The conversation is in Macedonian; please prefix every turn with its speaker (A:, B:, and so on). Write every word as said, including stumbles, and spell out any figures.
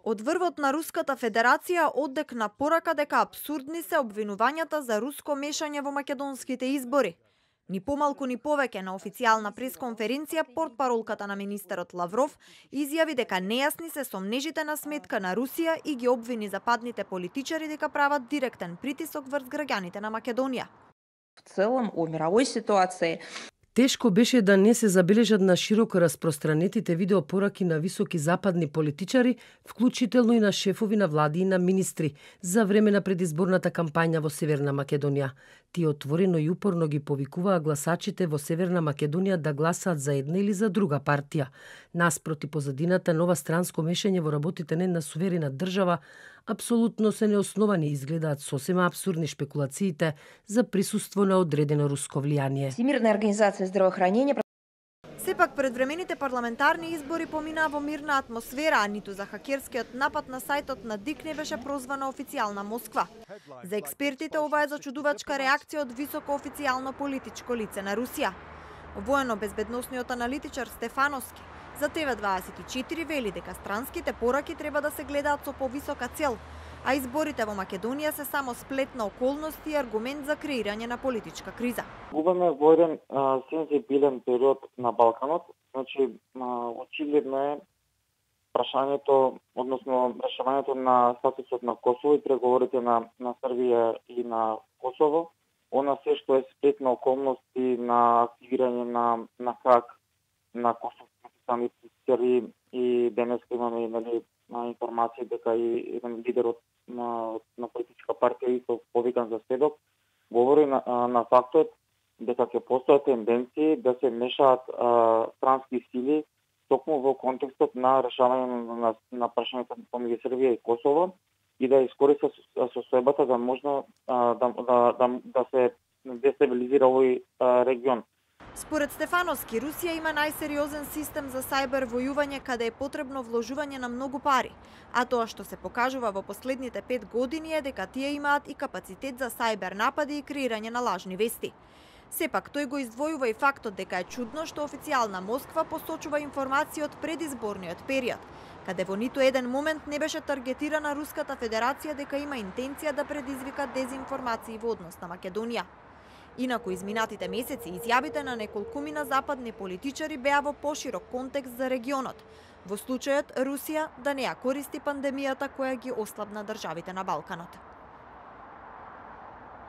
A: Од врвот на Руската Федерација оддекна порака дека апсурдни се обвинувањата за руско мешање во македонските избори. Ни помалку ни повеќе на официјална пресконференција портпаролката на министерот Лавров изјави дека нејасни се сомнежите на сметка на Русија и ги обвини западните политичари дека прават директен притисок врз граѓаните на Македонија.
B: В целом о мировой ситуации
C: тешко беше да не се забележат на широко распространетите видеопораки на високи западни политичари, вклучително и на шефови на влади и на министри, за време на предизборната кампања во Северна Македонија. Тие отворено и упорно ги повикуваа гласачите во Северна Македонија да гласаат за една или за друга партија. Наспроти позадината нова странско мешање во работите на една суверена држава, апсолутно се неосновани и изгледаат сосема апсурдни шпекулациите за присуство на одредено руско влијание.
B: Всемирна организација здравоохранение
A: Сепак предвремените парламентарни избори поминаа во мирна атмосфера, а ниту за хакерскиот напад на сајтот на ДИК не беше прозвана официјална Москва. За експертите ова е зачудувачка реакција од високо официјално политичко лице на Русија. Воено-безбедносниот аналитичар Стефановски за Т В дваесет и четири вели дека странските пораки треба да се гледаат со повисока цел, а изборите во Македонија се само сплет на околности и аргумент за креирање на политичка криза.
D: Губаме во еден сензибилен период на Балканот, значи очигледно е прашањето, односно решавањето на статусот на Косово и преговорите на на Србија и на Косово, она се што е сплет на околности на активирање на на хак на косовските самите и денес имаме нали информации дека и еден лидер од на, на политичка партија и повикан за сведок говори на, на фактот дека ќе постојат тенденции да се мешаат а, странски сили токму во контекстот на решавање на, на, на прашањето помеѓу Србија и Косово и да искористи состојбата да можно а, да, да, да, да се дестабилизира овој а, регион.
A: Според Стефановски, Русија има најсериозен систем за сајбер војување каде е потребно вложување на многу пари, а тоа што се покажува во последните пет години е дека тие имаат и капацитет за сајбер напади и креирање на лажни вести. Сепак, тој го издвојува и фактот дека е чудно што официјална Москва посочува информации од предизборниот период, каде во ниту еден момент не беше таргетирана Руската Федерација дека има интенција да предизвика дезинформации во однос на Македонија. Инаку изминатите месеци изјавите на неколкумина западни политичари беа во поширок контекст за регионот, во случајот Русија да не ја користи пандемијата која ги ослабна државите на Балканот.